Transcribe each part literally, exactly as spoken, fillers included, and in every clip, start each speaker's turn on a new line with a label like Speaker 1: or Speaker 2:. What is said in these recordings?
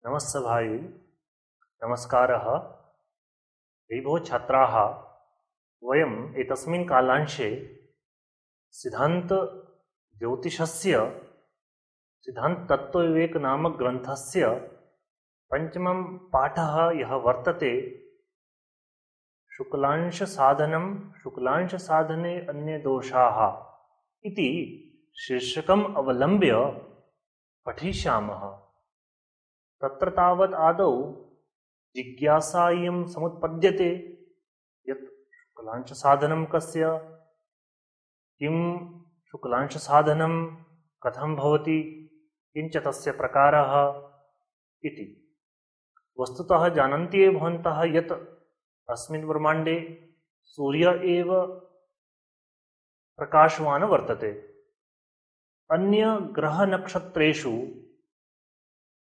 Speaker 1: नमस्ते भाई, नमस्कारः। विभो छात्राः, वयम् एतस्मिन् कालांशे सिद्धान्त ज्योतिषस्य सिद्धान्ततत्त्वविवेक नामक ग्रन्थस्य पञ्चमं पाठः यः वर्तते, शुक्लांश साधनं शुक्लांश साधने अन्ये दोषाः इति शीर्षकम् अवलम्ब्य पठिष्यामः। तत्र तावत् आदौ जिज्ञासा इयं समुत्पद्यते यत् शुक्लांश साधनं कस्य, किं शुक्लांश साधनं कथं भवति, किञ्च तस्य प्रकारः इति। वस्तुतः जानन्ति एव भवन्तः यत् अस्मिन् ब्रह्माण्डे सूर्य एव प्रकाशवान् वर्तते। अन्य ग्रह नक्षत्रेषु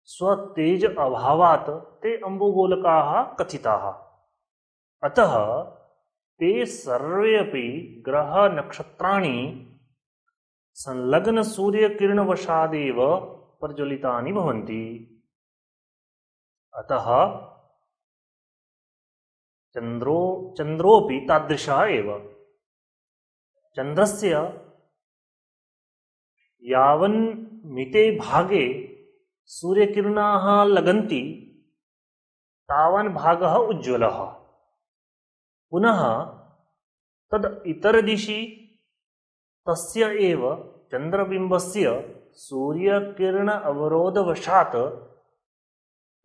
Speaker 1: स्वतेज अभावात् ते अम्बुगोलकाः कथिताः। अतः ते सर्वे अपि ग्रह नक्षत्राणि संलग्न सूर्यकिरणवशादेव प्रज्वलितानि भवन्ति। अतः चन्द्रो चन्द्रोऽपि तादृशः एव। चन्द्रस्य यावन्मिते भागे सूर्यकिरणाः लगन्ति तावान् भागः उज्ज्वलः। पुनः तद् इतरदिशि तस्य एव चन्द्रबिम्बस्य सूर्यकिरण अवरोधवशात्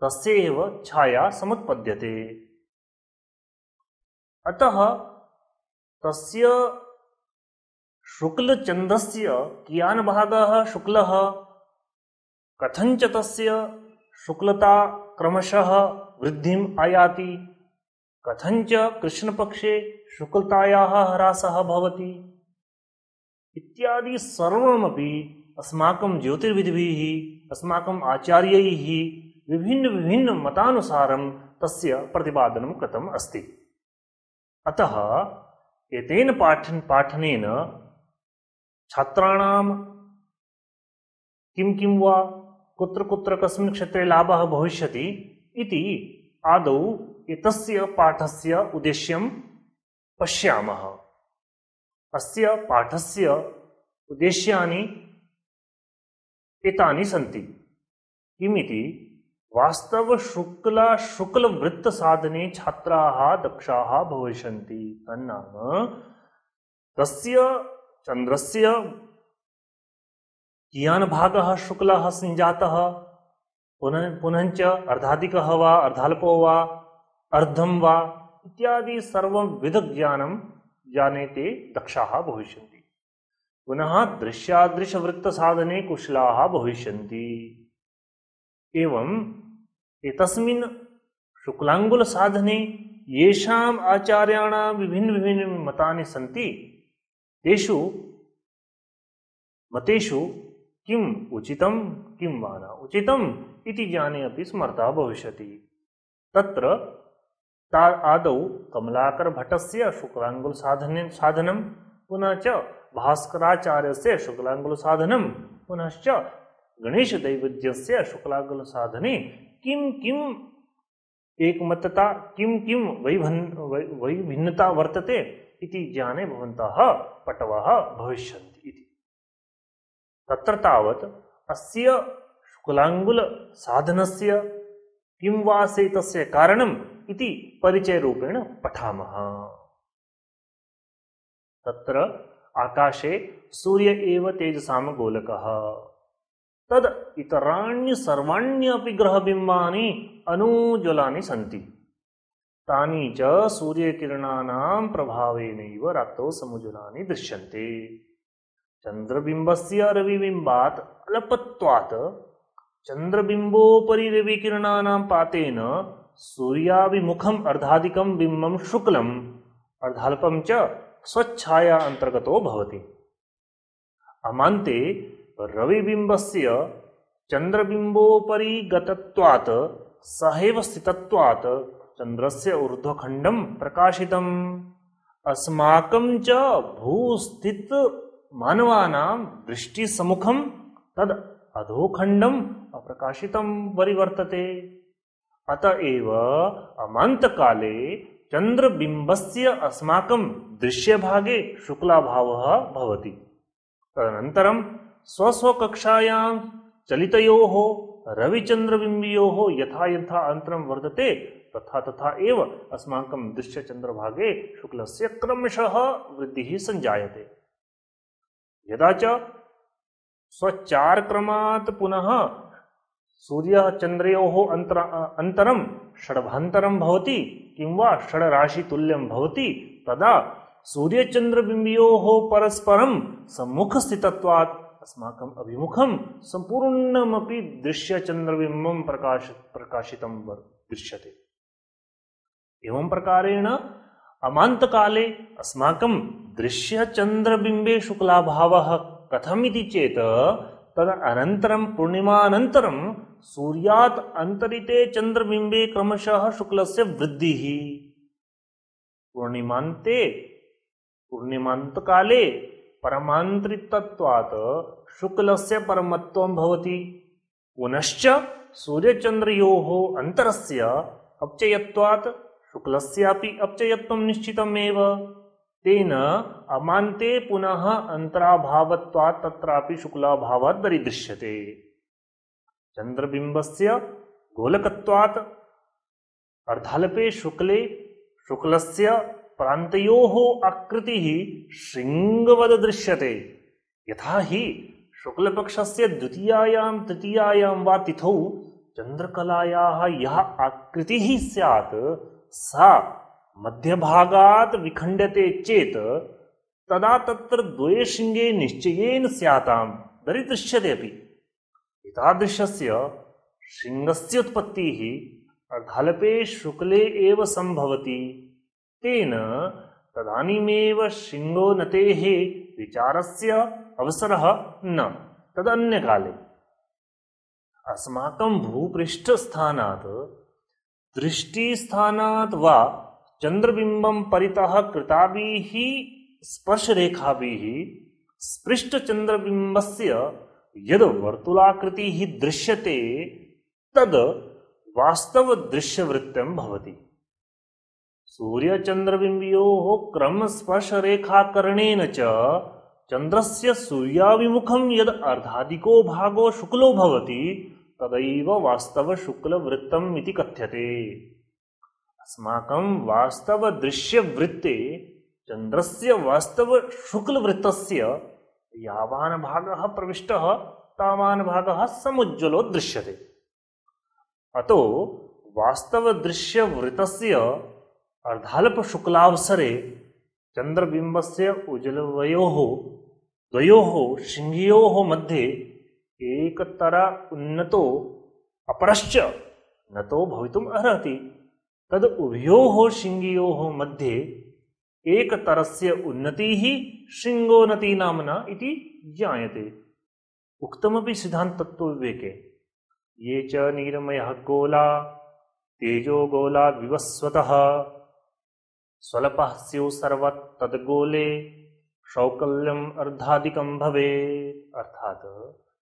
Speaker 1: तस्य एव छाया समुत्पद्यते। अतः तस्य शुक्लचन्द्रस्य कियान् भागः शुक्लः, कथञ्च तस्य शुक्लता क्रमशः वृद्धिम् आयाति, कथञ्च कृष्णपक्षे शुक्लतायाः ह्रासः भवति इत्यादि सर्वमपि अस्माकं ज्योतिर्विद्भिः अस्माकम् आचार्यैः विभिन्न विभिन्न मतानुसारं तस्य प्रतिपादनं कृतम् अस्ति। अतः एतेन पाठन पाठनेन छात्राणां किं किं वा कुत्र कुत्र कस्मिन् क्षेत्रे लाभः भविष्यति इति आदौ एतस्य पाठस्य उद्देश्यं पश्यामः। अस्य पाठस्य उद्देश्यानि एतानि सन्ति। किमिति वास्तव शुक्ला शुक्लवृत्त साधने छात्राः दक्षाः भविष्यन्ति। तन्नाम तस्य चन्द्रस्य कियान् भागः शुक्लः सञ्जातः, पुनः पुनश्च अर्धाधिकः वा अर्धाल्पो वा अर्धं वा इत्यादि सर्वं विधज्ञानं जानेते दक्षाः भविष्यन्ति। पुनः दृश्यादृशवृत्तसाधने कुशलाः भविष्यन्ति। एवम् एतस्मिन् शुक्लाङ्गुलसाधने येषाम् आचार्याणां विभिन्न विभिन्न मतानि सन्ति, तेषु मतेषु किम् उचितं किं वा न उचितम् इति ज्ञाने अपि समर्थः भविष्यति। तत्र ता आदौ कमलाकरभट्टस्य शुक्लाङ्गुलसाधने साधनं, पुनः च भास्कराचार्यस्य शुक्लाङ्गुलसाधनं, पुनश्च गणेशदैवज्ञस्य शुक्लाङ्गुलसाधने किं किम् एकमतता किं किं वैभन् वैभिन्नता वर्तते इति ज्ञाने भवन्तः पटवः भविष्यन्ति इति। तत्र तावत् अस्य शुक्लाङ्गुलसाधनस्य किं वा तस्य कारणम् इति परिचयरूपेण पठामः। तत्र आकाशे सूर्य एव तेजसां गोलकः। तद् इतराणि सर्वाण्यपि ग्रहबिम्बानि अनुज्वलानि सन्ति। तानि च सूर्यकिरणानां प्रभावेनैव रात्रौ समुज्वलानि दृश्यन्ते। चन्द्रबिम्बस्य रविबिम्बात् अल्पत्वात् चन्द्रबिम्बोपरि रविकिरणानां पातेन सूर्याभिमुखम् अर्धाधिकं बिम्बं शुक्लम् अर्धाल्पं च स्वच्छाया अन्तर्गतो भवति। अमान्ते रविबिम्बस्य चन्द्रबिम्बोपरि गतत्वात् सहैव स्थितत्वात् चन्द्रस्य ऊर्ध्वखण्डं प्रकाशितम्। अस्माकं च भूस्थित मानवानां दृष्टिसम्मुखं तद् अधोखण्डम् अप्रकाशितं परिवर्तते। अतएव अमान्तकाले चन्द्रबिम्बस्य अस्माकं दृश्यभागे शुक्लाभावः भवति। तदनन्तरं स्वस्वकक्षायां चलितयोः रविचन्द्रबिम्बयोः यथा यथा अन्तरं वर्तते तथा तथा एव अस्माकं दृश्यचन्द्रभागे शुक्लस्य क्रमशः वृद्धिः सञ्जायते। यदा च स्वचारक्रमात् पुनः सूर्यचन्द्रयोः अन्तर अन्तरं षड्भान्तरं भवति किं वा षड्राशितुल्यं भवति, तदा सूर्यचन्द्रबिम्बयोः परस्परं सम्मुखस्थितत्वात् अस्माकम् अभिमुखं सम्पूर्णमपि दृश्यचन्द्रबिम्बं प्रकाश प्रकाशितं दृश्यते। एवं प्रकारेण अमान्तकाले अस्माकं दृश्यचन्द्रबिम्बे शुक्लाभावः कथमिति चेत् तदनन्तरं पूर्णिमानन्तरं सूर्यात् अन्तरिते चन्द्रबिम्बे क्रमशः शुक्लस्य वृद्धिः। पूर्णिमान्ते पूर्णिमान्तकाले परमान्तरितत्वात् शुक्लस्य परमत्वं भवति। पुनश्च सूर्यचन्द्रयोः अन्तरस्य अपचयत्वात् शुक्लस्यापि अपचयत्वं निश्चितमेव। तेन अमान्ते पुनः अन्तराभावत्वात् तत्रापि शुक्लाभावात् दरीदृश्यते। चन्द्रबिम्बस्य गोलकत्वात् अर्धाल्पे शुक्ले शुक्लस्य प्रान्तयोः आकृतिः शृङ्गवद् दृश्यते। यथा हि शुक्लपक्षस्य द्वितीयायां तृतीयायां वा तिथौ चन्द्रकलायाः यः आकृतिः स्यात् सा मध्यभागात् विखण्ड्यते चेत् तदा तत्र द्वे शृङ्गे निश्चयेन स्यातां दरीदृश्यते अपि। एतादृशस्य शृङ्गस्य उत्पत्तिः अर्धाल्पे शुक्ले एव सम्भवति। तेन तदानीमेव शृङ्गोन्नतेः विचारस्य अवसरः न तदन्यकाले। अस्माकं भूपृष्ठस्थानात् दृष्टिस्थानात् वा चन्द्रबिम्बं परितः कृताभिः स्पर्शरेखाभिः स्पृष्टचन्द्रबिम्बस्य यद् वर्तुलाकृतिः दृश्यते तद् वास्तवदृश्यवृत्तं भवति। सूर्यचन्द्रबिम्बयोः क्रमस्पर्शरेखाकरणेन च चन्द्रस्य सूर्याभिमुखं यद् अर्धाधिको भागो शुक्लो भवति तदैव वास्तवशुक्लवृत्तम् इति कथ्यते। अस्माकं वास्तवदृश्यवृत्ते चन्द्रस्य वास्तवशुक्लवृत्तस्य यावान् भागः प्रविष्टः तावान् भागः समुज्ज्वलो दृश्यते। अतो वास्तवदृश्यवृत्तस्य अर्धाल्पशुक्लावसरे चन्द्रबिम्बस्य उज्ज्वलवयोः द्वयोः शृङ्गयोः मध्ये एकतर उन्नतो अपरश्च नतो भवितुम् अर्हति। तद् उभयोः शृङ्गयोः मध्ये एकतरस्य उन्नतिः शृङ्गोन्नति नाम्ना इति ज्ञायते। उक्तमपि सिद्धान्ततत्त्वविवेके ये च नीरमयः गोला तेजोगोला विवस्वतः स्वल्पः स्युः सर्वत् तद्गोले शौकल्यम् अर्धाधिकं भवेत्। अर्थात्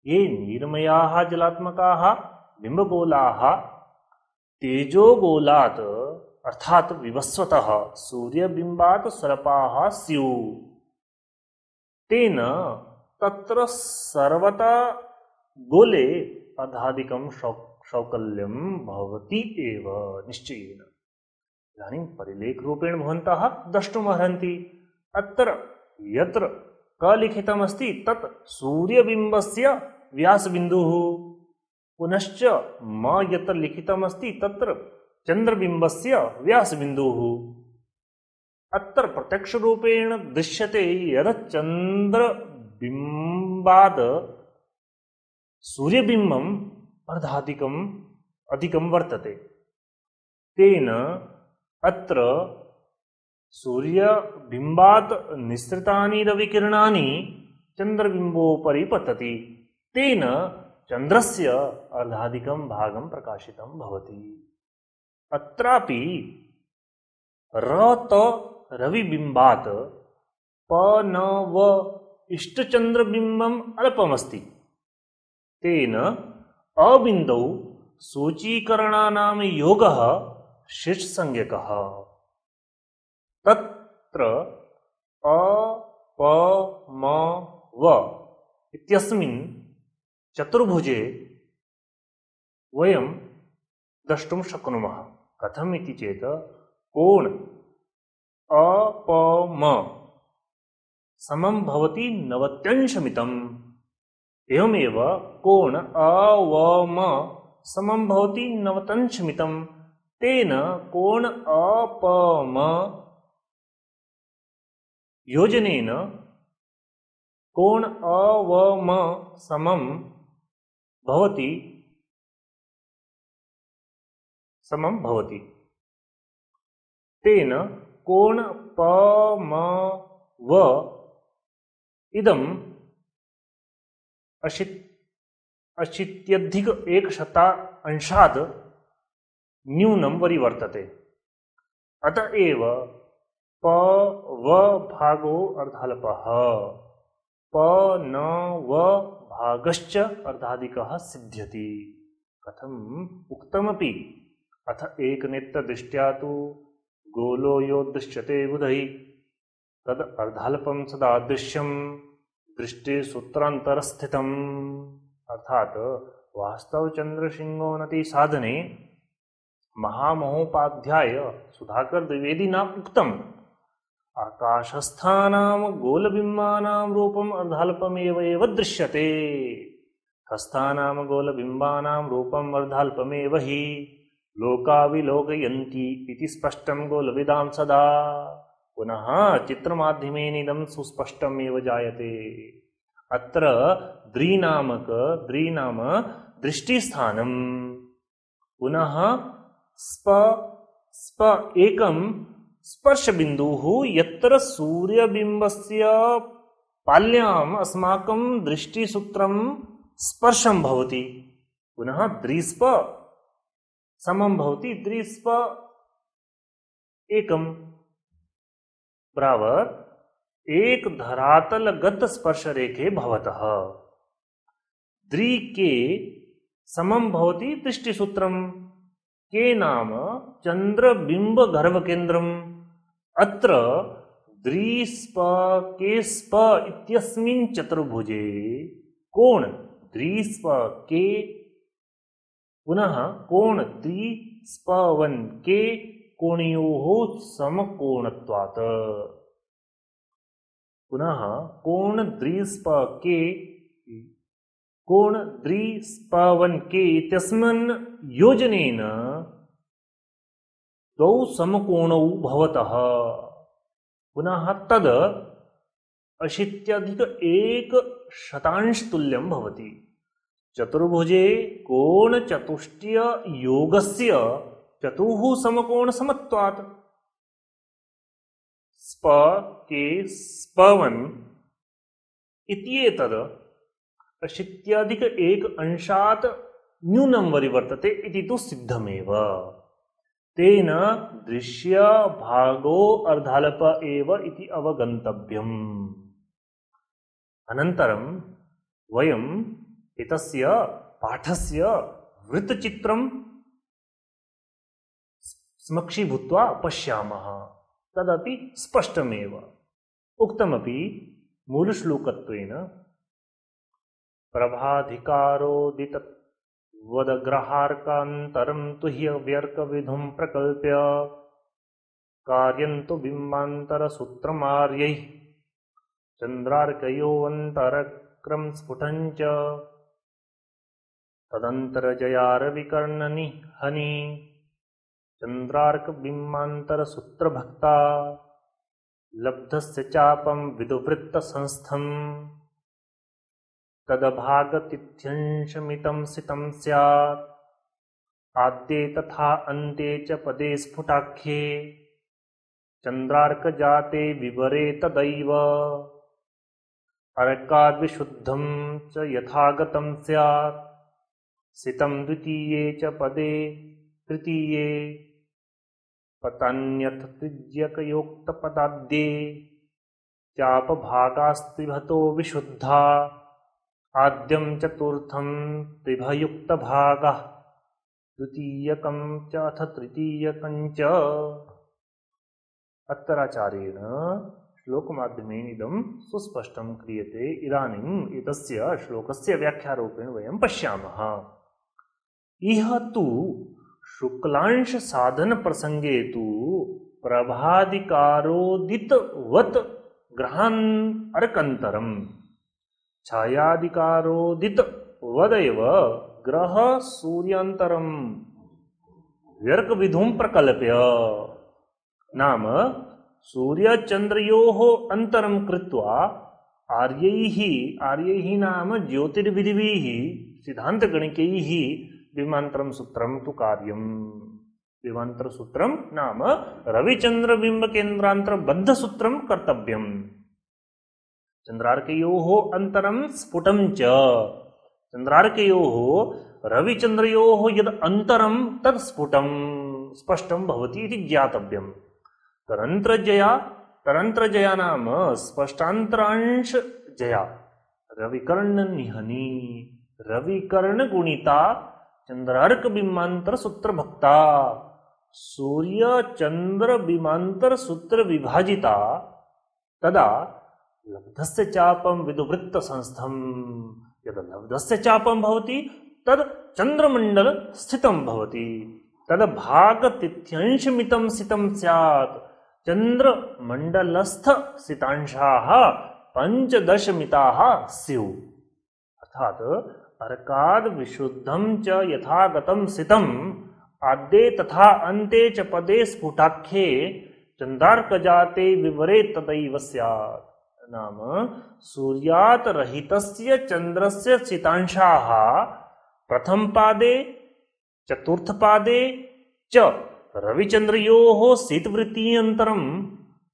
Speaker 1: ये नीर्मयाः जलात्मकाः बिम्बगोलाः तेजोगोलात् अर्थात् विवस्वतः सूर्यबिम्बात् स्वल्पाः स्युः तेन तत्र सर्वता गोले अर्धाधिकं शौकल्यं भवति एव निश्चयेन। इदानीं परिलेखरूपेण भवन्तः द्रष्टुमर्हन्ति। अत्र यत्र क लिखितमस्ति तत् सूर्यबिम्बस्य व्यासबिन्दुः, पुनश्च म यत्र लिखितमस्ति तत्र चन्द्रबिम्बस्य व्यासबिन्दुः। अत्र प्रत्यक्षरूपेण दृश्यते यत् चन्द्रबिम्बाद् सूर्यबिम्बम् अर्धाधिकम् अधिकं वर्तते। तेन अत्र सूर्यबिम्बात् निस्सृतानि रविकिरणानि चन्द्रबिम्बोपरि पतति। तेन चन्द्रस्य अर्धाधिकं भागं प्रकाशितं भवति। अत्रापि रत रविबिम्बात् प न व इष्टचन्द्रबिम्बम् अल्पमस्ति। तेन अबिन्दौ सूचीकरणानां योगः शीर्षसंज्ञकः। तत्र अ प म व इत्यस्मिन् चतुर्भुजे वयं द्रष्टुं शक्नुमः। कथम् इति चेत् कोण अ प म समं भवति नवत्यंशमितम्। एवमेव कोण अ व म समं भवति नवत्यंशमितम्। तेन कोण अ प म योजनेन कोण अ व म समं भवति समं भवति। तेन कोण प म व इदम् अशीत् अशीत्यधिक एकशता अंशात् न्यूनं वरिवर्तते। अतएव प व भागो अर्धाल्पः, प न व भागश्च अर्धाधिकः सिद्ध्यति। कथम् उक्तमपि अथ एकनेत्रदृष्ट्या तु गोलो यो दृश्यते बुधैः तद अर्धाल्पं सदा दृश्यं दृष्टे सूत्रान्तरस्थितम्। अर्थात वास्तव चंद्रसिंहोन्नति साधने महामहोपाध्याय सुधाकर द्विवेदिना उक्तम् आकाशस्थानां गोलबिम्बानां रूपम् अर्धाल्पमेव एव दृश्यते, हस्तानां गोलबिम्बानां रूपम् अर्धाल्पमेव हि लोकाविलोकयन्ति इति स्पष्टं गोलविदां सदा। पुनः चित्रमाध्यमेन इदं सुस्पष्टम् एव जायते। अत्र द्विनामक द्विनाम दृष्टिस्थानम्। पुनः स्प स्प एकं स्पर्शबिन्दुः यत्र सूर्यबिम्बस्य पाल्याम् अस्माकं दृष्टिसूत्रं स्पर्शं भवति। पुनः द्विस्प समं भवति द्विस्प एकम् बराबर एक धरातलगत स्पर्शरेखे भवतः द्वि के समं भवति दृष्टिसूत्रम्। के नाम चंद्रबिंब गर्भकेन्द्रम्। अत्र द्विस्प के स्प इत्यस्मिन् चतुर्भुजे कोण द्विस्प के पुनः कोण द्विस्पवन के कोणयोः समकोणत्वात्। पुनः कोण द्विस्प के कोण द्विस्पवन के इत्यस्मिन् योजनेन द्वौ समकोणौ भवतः। पुनः तद अशीत्यधिक एक शतांश तुल्यं भवति। चतुर्भुजे कोण चतुष्टय योगस्य चतुः समकोण समत्वात्। स्प के स्पवन इत्येतद् अशीत्यधिक एक अंशात् न्यूनं वरिवर्तते इति तु सिद्धमेव। तेन दृश्य भागो अर्धाल्प एव इति अवगन्तव्यम्। अनन्तरं वयम् एतस्य पाठस्य वृत्तचित्रं समक्षीभूत्वा पश्यामः। तदपि स्पष्टमेव उक्तमपि मूलश्लोकत्वेन प्रभाधिकारोदित वदग्रहार्कान्तरं तु ह्यव्यर्कविधुं प्रकल्प्य कार्यन्तु बिम्बान्तरसूत्रमार्यैः चन्द्रार्कयोऽन्तरक्रम स्फुटञ्च तदन्तरजयारविकर्णनिहनि चन्द्रार्कबिम्बान्तरसूत्रभक्ता लब्धस्य चापं विदुवृत्तसंस्थम् तदभागतिथ्यंशमितं सितं स्यात् आद्ये तथा अन्ते च पदे स्फुटाख्ये चन्द्रार्कजाते विवरे तदैव अर्काद्विशुद्धं च यथागतं स्यात् सितं द्वितीये च पदे तृतीये पतान्यथ तिर्यकयोक्तपदाद्ये चापभागास्त्रिभतो विशुद्धा आद्यं चतुर्थं त्रिभयुक्तभागः द्वितीयकं च अथ तृतीयकं च। अत्राचार्येण श्लोकमाध्यमेन इदं सुस्पष्टं क्रियते। इदानीम् एतस्य श्लोकस्य व्याख्यारूपेण वयं पश्यामः। इह तु शुक्लांश साधन प्रसंगे तु प्रभादिकारोदितवत् ग्रहान् अर्कन्तरम् छायादिकारोदितवदेव ग्रह सूर्यान्तरम् व्यर्कविधुं प्रकल्प्य। नाम सूर्यचन्द्रयोः अन्तरं कृत्वा आर्यैः आर्यैः नाम ज्योतिर्विधिभिः सिद्धान्तगणिकैः विमान्तरं सूत्रं तु कार्यम्। विमान्तरसूत्रं नाम रविचन्द्रबिम्बकेन्द्रान्तरबद्धसूत्रं कर्तव्यम्। चन्द्रार्कयोः अन्तरं स्फुटं च। चन्द्रार्कयोः रविचन्द्रयोः यद् अन्तरं तत् स्फुटं स्पष्टं भवति इति ज्ञातव्यम्। तरन्त्रजया तरन्त्रजया नाम स्पष्टान्तरांशजया रविकर्णनिहनी रविकर्णगुणिता चन्द्रार्कबिम्बान्तरसूत्रभक्ता सूर्यचन्द्रबिम्बान्तरसूत्रविभाजिता तदा लब्धस्य चापं विदुवृत्तसंस्थं। यद् लब्धस्य चापं भवति तद् चन्द्रमण्डलस्थितं भवति। तद् भागतिथ्यंशमितं सितं स्यात्। चन्द्रमण्डलस्थ सितांशाः पञ्चदशमिताः स्युः। अर्थात् अर्काद् विशुद्धं च यथागतं सितम् आद्ये तथा अन्ते च पदे स्फुटाख्ये चन्द्रार्कजाते विवरे तदैव स्यात्। नाम सूर्यात् रहितस्य चन्द्रस्य सितांशाः प्रथमपादे चतुर्थपादे च रविचन्द्रयोः शीतवृत्त्यन्तरं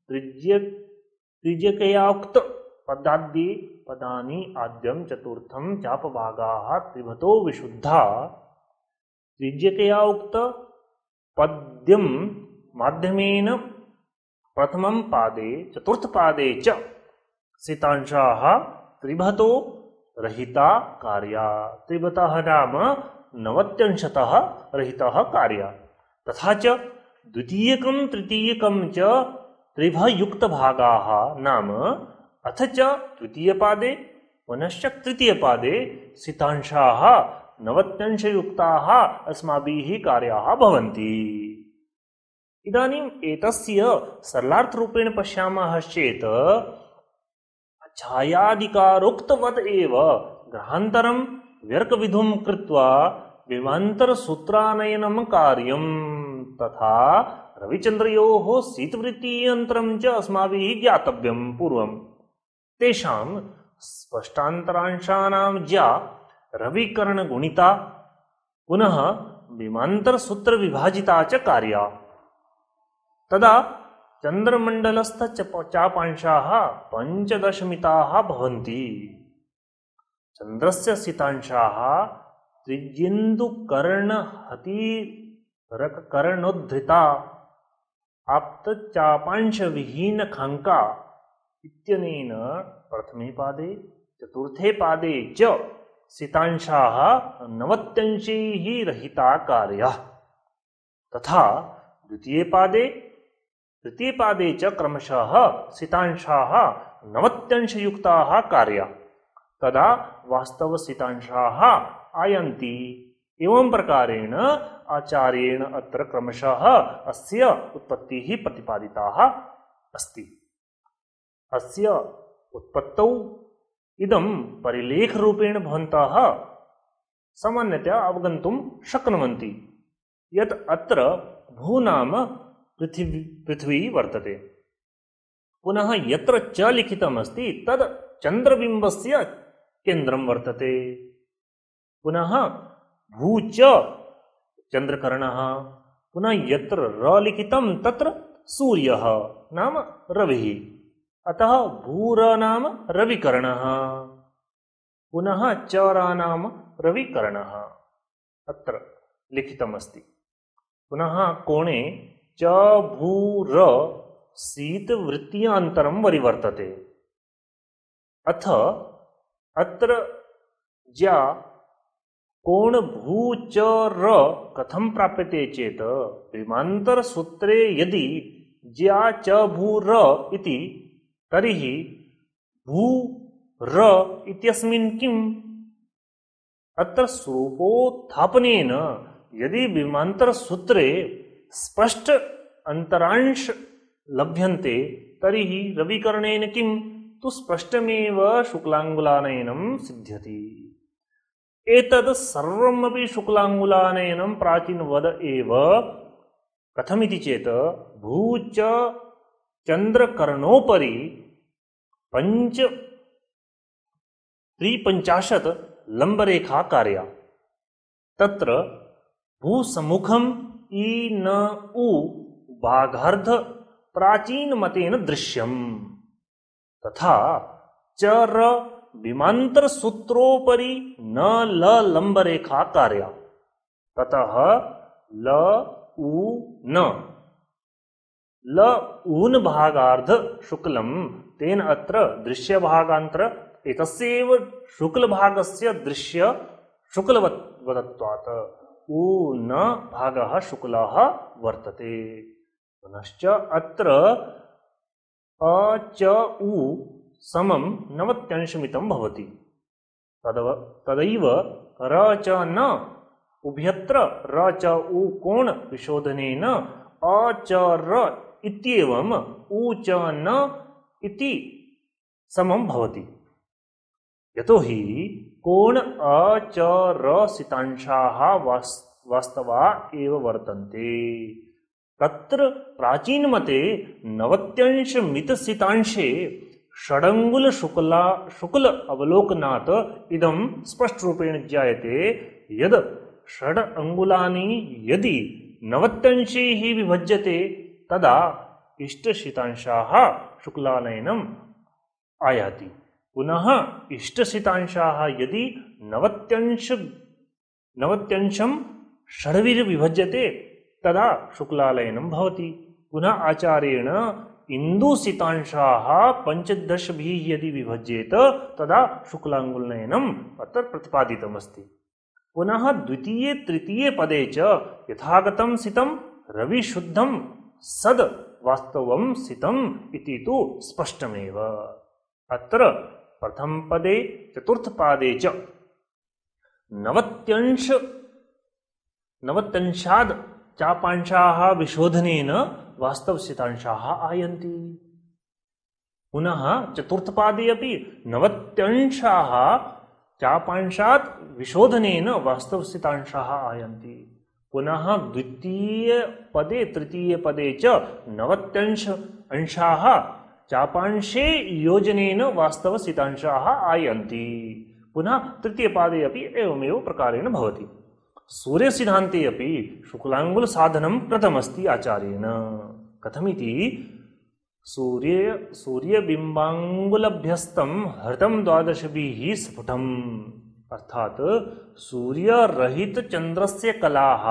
Speaker 1: त्रिज्य त्रिज्यकया उक्त पदाद्ये पदानि आद्यं चतुर्थं चापभागाः त्रिभतो विशुद्धा। त्रिज्यकया उक्त पद्यं माध्यमेन प्रथमं पादे चतुर्थपादे च सितांशाः त्रिभतो रहिता कार्या। त्रिभतः नाम नवत्यंशतः रहितः कार्या। तथा च द्वितीयकं तृतीयकं च त्रिभयुक्तभागाः नाम अथ च द्वितीयपादे पुनश्च तृतीयपादे सितांशाः नवत्यंशयुक्ताः अस्माभिः कार्याः भवन्ति। इदानीम् एतस्य सरलार्थरूपेण पश्यामः चेत् छायादिकारोक्तवत् एव ग्रहान्तरं व्यर्कविधुं कृत्वा विमान्तरसूत्रानयनं कार्यं। तथा रविचन्द्रयोः शीतवृत्त्यन्तरं च अस्माभिः ज्ञातव्यं पूर्वं। तेषां स्पष्टान्तरांशानां ज्या रविकर्णगुणिता पुनः विमान्तरसूत्रविभाजिता च कार्या। तदा चन्द्रमण्डलस्थ चापांशाः पञ्चदशमिताः भवन्ति। चन्द्रस्य सितांशाः त्रिज्येन्दुकर्णहतिरककर्णोद्धृता आप्तचापांशविहीनखाङ्का इत्यनेन प्रथमे पादे चतुर्थे पादे च सितांशाः नवत्यंशैः रहिता कार्याः। तथा द्वितीये पादे तृतीये पादे च क्रमशः सितांशाः नवत्यंशयुक्ताः कार्या। तदा वास्तवसितांशाः आयन्ति। एवं प्रकारेण आचार्येण अत्र क्रमशः अस्य उत्पत्तिः प्रतिपादिता अस्ति। अस्य उत्पत्तौ इदं परिलेखरूपेण भवन्तः सामान्यतया अवगन्तुं शक्नुवन्ति यत् अत्र भू नाम पृथिवी पृथ्वी वर्तते। पुनः यत्र च लिखितमस्ति तद् चन्द्रबिम्बस्य केन्द्रं वर्तते। पुनः भू च चन्द्रकर्णः। पुनः यत्र र लिखितं तत्र सूर्यः नाम रविः। अतः भूर नाम रविकर्णः। पुनः चर नाम रविकर्णः अत्र लिखितमस्ति। पुनः कोणे च भूर शीतवृत्त्यान्तरं वरिवर्तते। अथ अत्र ज्या कोण भू च र कथं प्राप्यते चेत विमांतर सूत्रे यदि ज्या च भू र इति तर्हि भू र इत्यस्मिन् किम् अत्र स्वरूपोत्थापनेन यदि विमांतर सूत्रे स्पष्ट अंतरांश लभ्यन्ते तर्हि रविकरणेन किं तु स्पष्टमेव शुक्लांगुलानयनं सिद्ध्यति। एतद् सर्वमपि शुक्लांगुलानयनं प्राचीनवद एव। कथमिति चेत् भू च चन्द्रकर्णोपरि पञ्च त्रिपञ्चाशत् लम्बरेखा कार्या। तत्र भूसम्मुखम् ई न उ भागार्ध प्राचीन मतेन दृश्यम् तथा च र विमांतर सूत्रोपरि न ल लंबरेखा कार्या। ततः ल उ न ल ऊन भागार्ध शुक्लम तेन अत्र दृश्य भागांतर एतस्यैव शुक्ल भागस्य दृश्य शुक्लवत्त्वात् उ न भागः शुक्लः वर्तते। पुनश्च अत्र अ च उ समं नवत्यंशमितं भवति। तदव तदैव र च न उभयत्र र च उ कोण विशोधनेन अ च र इत्येवम् उ च न इति समं भवति। यतोहि कोण अ च र सितांशाः वास्तवा एव वर्तन्ते। तत्र प्राचीन मते नवत्यंश मित सितांशे षडंगुल शुक्ला शुक्ल अवलोकनात् इदं स्पष्ट रूपेण ज्ञायते यद षड अंगुलानि यदि नवत्यंशैः विभज्यते तदा इष्टसितांशाः शुक्लानयनम् आयाति। पुनः इष्टसितांशाः यदि नवत्यंश नवत्यंशं षड्भिः विभज्यते तदा शुक्लालयनं भवति। पुनः आचार्येण इंदुसितांशाः पंचदशभिः यदि विभज्येत तदा शुक्लांगुलनयनम् अत्र प्रतिपादितमस्ति। पुनः द्वितीये तृतीये पदे च यथागतं सितं रविशुद्धं सद वास्तवं सितम् इति तु स्पष्टमेव। अत्र प्रथम पदे चतुर्थ पादे च नवत्यंश नवत्यंशाद् चापांशाः विशोधनेन वास्तवसितांशाः आयन्ति। पुनः चतुर्थपादे अपि नवत्यंशाः चापांशात् विशोधनेन वास्तवसितांशाः आयन्ति। पुनः द्वितीय पदे तृतीय पदे च नवत्यंश अंशाः चापांशे योजनेन वास्तवसितांशाः आयन्ति। पुनः तृतीय पादे अपि एवमेव प्रकारेण भवति। सूर्य सिद्धान्ते अपि शुक्लांगुल साधनं कृतमस्ति आचार्येण। कथमिति सूर्य सूर्यबिम्बांगुलभ्यस्तं हृतं द्वादशभिः स्फुटम् अर्थात् सूर्यरहित चन्द्रस्य कलाः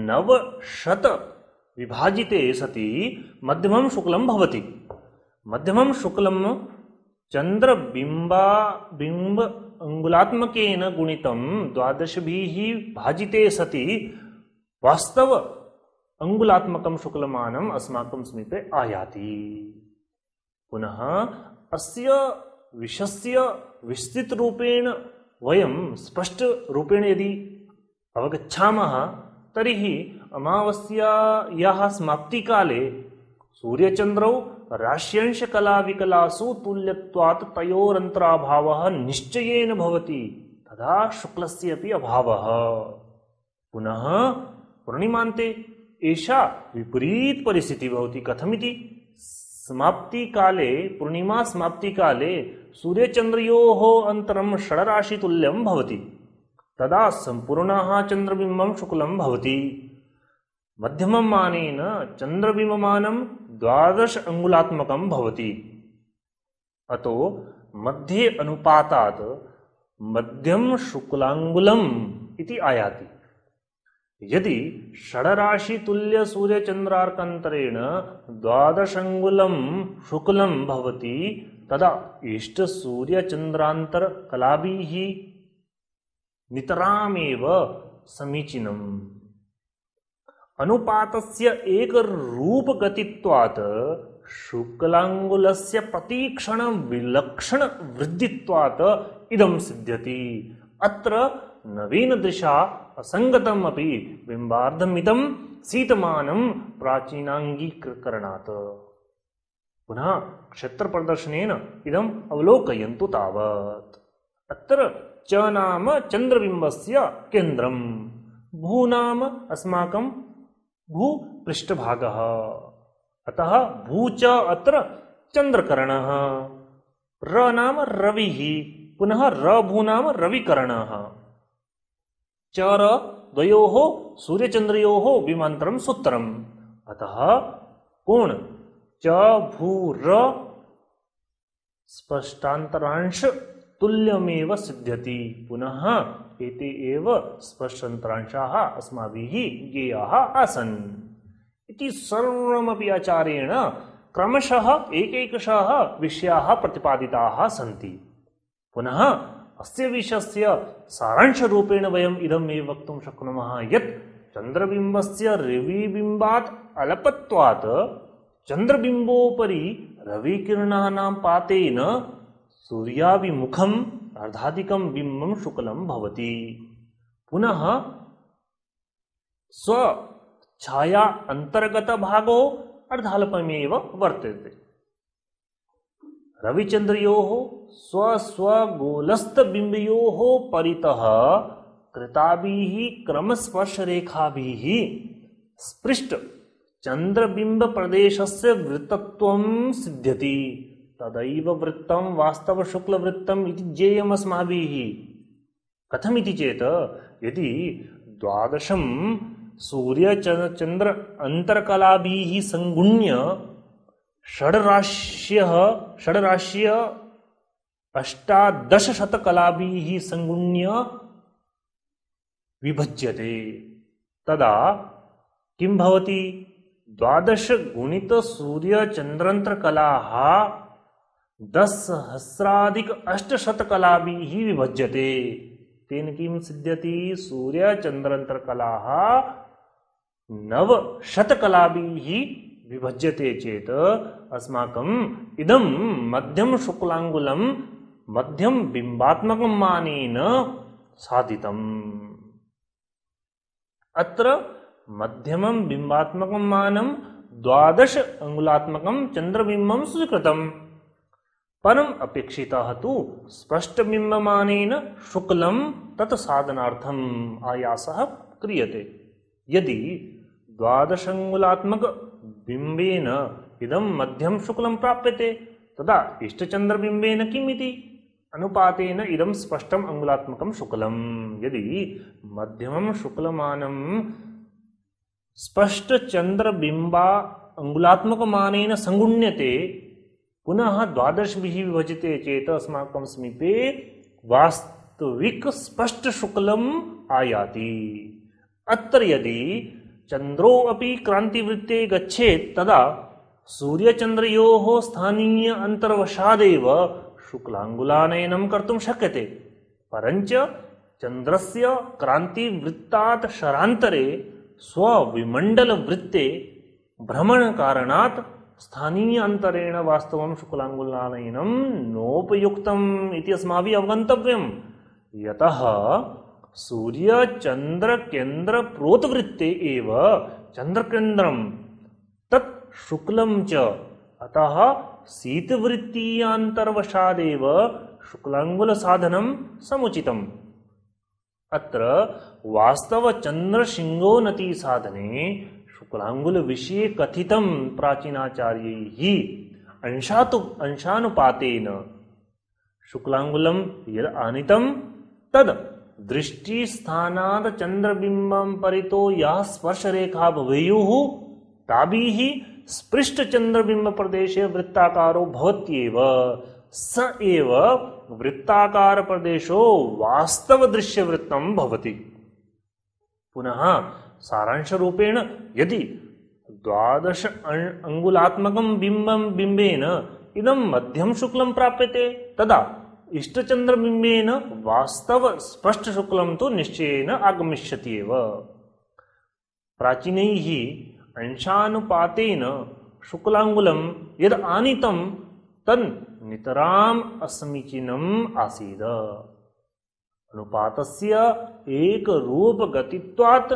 Speaker 1: नवशत विभाजिते सति मध्यमं शुक्लं भवति। मध्यमं शुक्लं चन्द्रबिम्बा बिम्ब अंगुलात्मकेन गुणितं द्वादशभिः भाजिते सति वास्तव अंगुलात्मकं शुक्लमानम् अस्माकं समीपे आयाति। पुनः अस्य विषयस्य विस्तृत रूपेण वयं स्पष्ट रूपेण यदि अवगच्छामः तर्हि अमावास्यायाः समाप्तिकाले सूर्यचन्द्रौ राश्यंश कला विकलासु तुल्यत्वात् तयोरन्तराभावः निश्चयेन भवति तदा शुक्लस्य अपि अभावः। पुनः पूर्णिमान्ते एषा विपरीत परिस्थितिः भवति। कथमिति समाप्तिकाले पूर्णिमा समाप्तिकाले सूर्यचन्द्रयोः अन्तरं षड्राशितुल्यं भवति। तदा सम्पूर्णः चन्द्रबिम्बं शुक्लं भवति। मध्यमं मानेन चन्द्रबिम्बमानं द्वादश अंगुलात्मकं भवति। अतो मध्ये अनुपातात् मध्यम शुक्लांगुलम् इति आयाति। यदि षड्राशि तुल्य सूर्य चन्द्रार्कान्तरेण द्वादश अंगुलं शुक्लं भवति तदा इष्टसूर्यचन्द्रान्तरकलाभिः नितरामेव समीचीनम्। अनुपातस्य एकरूपगतित्वात् शुक्लाङ्गुलस्य प्रतिक्षण विलक्षण वृद्धित्वात् इदं सिद्ध्यति। अत्र नवीनदृशा असङ्गतम् अपि बिम्बार्धमिदं सीतमानं प्राचीनाङ्गीकरणात्। पुनः क्षेत्रप्रदर्शनेन इदम् अवलोकयन्तु तावत्। अत्र च नाम चन्द्रबिम्बस्य केन्द्रम्, भू नाम अस्माकं भूपृष्ठभागः, अतः भू च अत्र चन्द्रकरणः। र नाम रविः, पुनः र भू नाम रविकरणः। च र द्वयोः सूर्यचन्द्रयोः विमान्तरं सूत्रम्, अतः कोण च भू र स्पष्टान्तरांश तुल्यमेव सिद्ध्यति। पुनः एते एव स्पष्टान्तरांशाः अस्माभिः ज्ञेयाः आसन् इति सर्वमपि आचार्येण क्रमशः एकैकशः विषयाः प्रतिपादिताः सन्ति। पुनः अस्य विषयस्य सारांशरूपेण वयम् इदमेव वक्तुं शक्नुमः यत् चन्द्रबिम्बस्य रविबिम्बात् अल्पत्वात् चन्द्रबिम्बोपरि रविकिरणानां पातेन सूर्याभिमुखम् अर्धाधिकं बिम्बं शुक्लं भवति। पुनः स्वछाया अन्तर्गतभागो अर्धाल्पमेव वर्तते। रविचन्द्रयोः स्वस्वगोलस्थबिम्बयोः परितः कृताभिः क्रमस्पर्शरेखाभिः स्पृष्ट चन्द्रबिम्बप्रदेशस्य वृत्तत्वं सिद्ध्यति। तदैव वृत्तं वास्तवशुक्लवृत्तम् इति ज्ञेयम् अस्माभिः। कथमिति चेत् यदि द्वादशं सूर्यचन्द्र अन्तर्कलाभिः संगुण्य षड्राश्यः षड्राश्य अष्टादशशतकलाभिः संगुण्य विभज्यते, तदा किं भवति? द्वादश गुणित सूर्यचन्द्रान्तरकलाः दशसहस्राधिक अष्टशतकलाभिः विभज्यते। तेन किं सिद्ध्यति? सूर्यचन्द्रान्तरकलाः नवशतकलाभिः विभज्यते चेत् अस्माकम् इदं मध्यम शुक्लाङ्गुलं मध्यम बिम्बात्मकं मानेन साधितम्। अत्र मध्यमं बिम्बात्मकं मानं द्वादश अंगुलात्मकं चन्द्रबिम्बं स्वीकृतम्। परम् अपेक्षितः तु स्पष्टबिम्बमानेन शुक्लं तत् साधनार्थम् आयासः क्रियते। यदि द्वादशाङ्गुलात्मक बिम्बेन इदं मध्यम शुक्लं प्राप्यते तदा इष्टचन्द्रबिम्बेन किम् इति? अनुपातेन इदं स्पष्टम् अंगुलात्मकं शुक्लम्। यदि मध्यमं शुक्लमानं स्पष्टचन्द्रबिम्बा अंगुलात्मकमानेन संगुण्यते, पुनः द्वादशभिः विभज्यते चेत् अस्माकं समीपे वास्तविक स्पष्टशुक्लम् आयाति। अत्र यदि चन्द्रो अपि क्रान्तिवृत्ते गच्छेत् तदा सूर्यचन्द्रयोः स्थानीय अन्तर्वशादेव शुक्लाङ्गुलानयनं कर्तुं शक्यते। परञ्च चन्द्रस्य क्रान्तिवृत्तात् शरान्तरे स्वविमण्डलवृत्ते भ्रमणकारणात् स्थानीय अन्तरेण वास्तवं शुक्लाङ्गुलानयनं नोपयुक्तम् इति अस्माभिः अवगन्तव्यम्। यतः सूर्यचन्द्रकेन्द्रप्रोतवृत्ते एव चन्द्रकेन्द्रं तत् शुक्लं च, अतः शीतवृत्तीयान्तर्वशादेव शुक्लाङ्गुलसाधनं समुचितम्। अत्र वास्तवचन्द्रशिङ्गोन्नति साधने शुक्लाङ्गुलविषये कथितं प्राचीनाचार्यैः अंशातु अंशानुपातेन शुक्लाङ्गुलं यद् आनीतं तद् दृष्टिस्थानात् चन्द्रबिम्बं परितो याः स्पर्शरेखा भवेयुः ताभिः स्पृष्टचन्द्रबिम्बप्रदेशे वृत्ताकारो भवत्येव। स एव वृत्ताकारप्रदेशो वास्तवदृश्यवृत्तं भवति। पुनः सारांशरूपेण यदि द्वादश अंगुलात्मकं बिम्बं बिम्बेन इदं मध्यम शुक्लं प्राप्यते तदा इष्टचंद्रबिंबेन वास्तव स्पष्ट शुक्लं तु निश्चयेन आगमिष्यति एव। प्राचीनैः अंशानुपातेन शुक्लांगुलं यद् आनीतं तन् नितराम् असमीचीनम् आसीत्। अनुपातस्य एकरूपगतित्वात्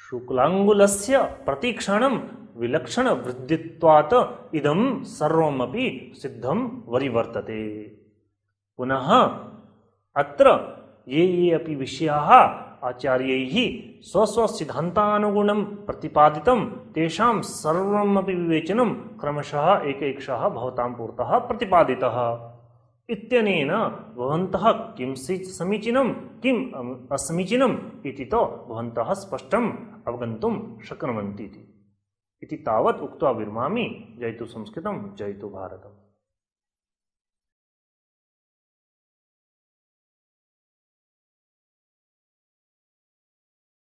Speaker 1: शुक्लांगुलस्य प्रतिक्षणं विलक्षणवृद्धित्वात् इदं सर्वमपि सिद्धं वरिवर्तते। पुनः अत्र ये ये अपि विषयाः आचार्यैः स्वस्वसिद्धान्तानुगुणं प्रतिपादितं तेषां सर्वमपि विवेचनं क्रमशः एकैकशः भवतां पुरतः प्रतिपादितः। इत्यनेन भवन्तः किं समीचीनं किम् असमीचीनम् इति तु भवन्तः स्पष्टम् अवगन्तुं शक्नुवन्ति इति तावत् उक्त्वा विरमामि। जयतु संस्कृतं, जयतु भारतम्।